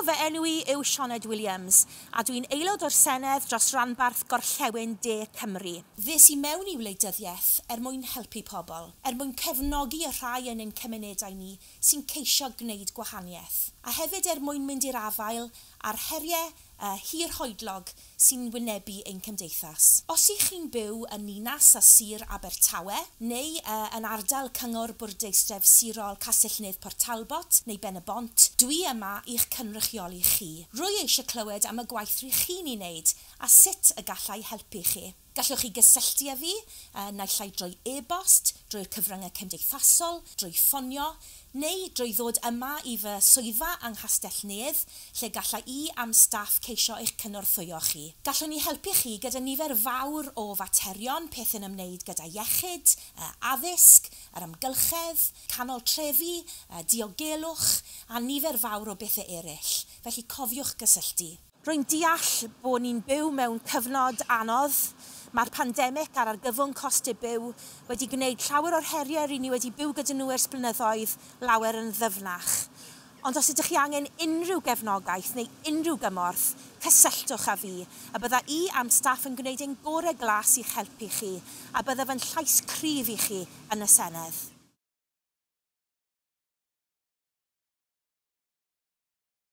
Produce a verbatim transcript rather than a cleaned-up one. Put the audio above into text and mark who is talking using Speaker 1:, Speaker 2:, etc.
Speaker 1: fy enw i yw Sioned Williams a dwi'n aelod o'r Senedd dros ranbarth Gorllewin De Cymru. Ddes i mewn i wleidyddiaeth er mwyn helpu pobl, er mwyn cefnogi y rhai yn ein cymunedau ni sy'n ceisio gwneud gwahaniaeth, a hefyd er mwyn mynd i'r afael â'r heriau uh, hirhoedlog sy'n wynebu ein cymdeithas. Os ych chi'n byw yn Ninas a Sir Abertawe neu uh, yn ardal Cyngor Bwrdeistref Sirol Castell-nedd Port Talbot neu Ben-y-bont, dwi yma i'ch cynrychioli chi. Rwy eisiau clywed am y gwaith rych chi'n ei wneud a sut y gallai helpu chi. Gallwch chi gysylltu â fi, uh, naill ai drwy e-bost, drwy'r cyfryngau cymdeithasol, drwy ffonio, neu drwy ddod yma i fy swyddfa yng Nghastell-nedd, lle galla i a'm staff ceisio eich cynorthwyo chi. Gallwn ni helpu chi gyda nifer fawr o faterion, pethau'n ymwneud gyda iechyd, addysg, yr amgylchedd, canol trefi, diogelwch, a nifer fawr o bethau eraill. Felly cofiwch gysylltu. Rwy'n deall bod ni'n byw mewn cyfnod anodd. Mae'r pandemig a'r argyfwng costau byw wedi gwneud llawer o'r heriau ry'n ni wedi byw gyda nhw ers blynyddoedd lawer yn ddyfnach. Ond os ydych chi angen unrhyw gefnogaeth neu unrhyw gymorth, cysylltwch â fi, a bydda i a'm staff yn gwneud ein gorau glas i'ch helpu chi, a byddaf yn llais cryf i chi yn y Senedd.